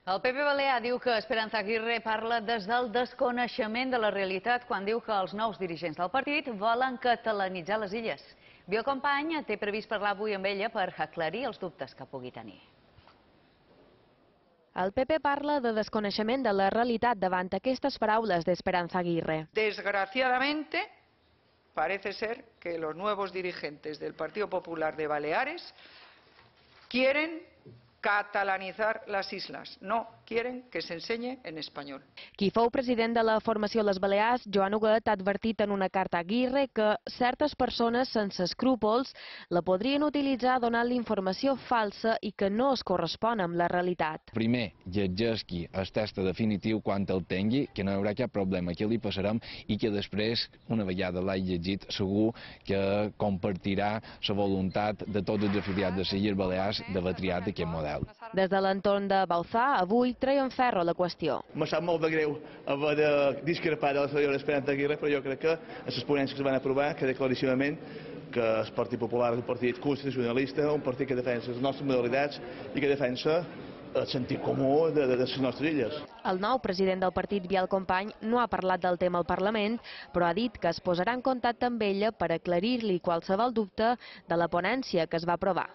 El PP Balear diu que Esperanza Aguirre parla des del desconeixement de la realitat quan diu que els nous dirigents del partit volen catalanitzar les illes. Biel Company té previst parlar avui amb ella per aclarir els dubtes que pugui tenir. El PP parla de desconeixement de la realitat davant aquestes paraules d'Esperanza Aguirre. Desgraciadamente, parece ser que los nuevos dirigentes del Partido Popular de Baleares quieren catalanizar las islas, no quieren que se enseñe en español. Qui fou president de la formació Les Balears, Joan Huguet, ha advertit en una carta a Aguirre que certes persones sense escrúpols la podrien utilitzar donant-li informació falsa i que no es correspon amb la realitat. Primer, llegeixi el text definitiu quan el tingui, que no hi haurà cap problema, que li passarem i que després, una vegada l'hagi llegit, segur que compartirà la voluntat de tots els afiliats de les Illes Balears d'haver triat aquest model. Des de l'entorn de Bauzá, avui treien ferro a la qüestió. Me sap molt de greu haver de discrepar de la senyora Esperanza Aguirre, però jo crec que a les ponències que es van aprovar queda claríssimament que el Partit Popular és un partit constitucionalista, un partit que defensa les nostres modalitats i que defensa el sentit comú de les nostres illes. El nou president del partit, Biel Company, no ha parlat del tema al Parlament, però ha dit que es posarà en contacte amb ella per aclarir-li qualsevol dubte de la ponència que es va aprovar.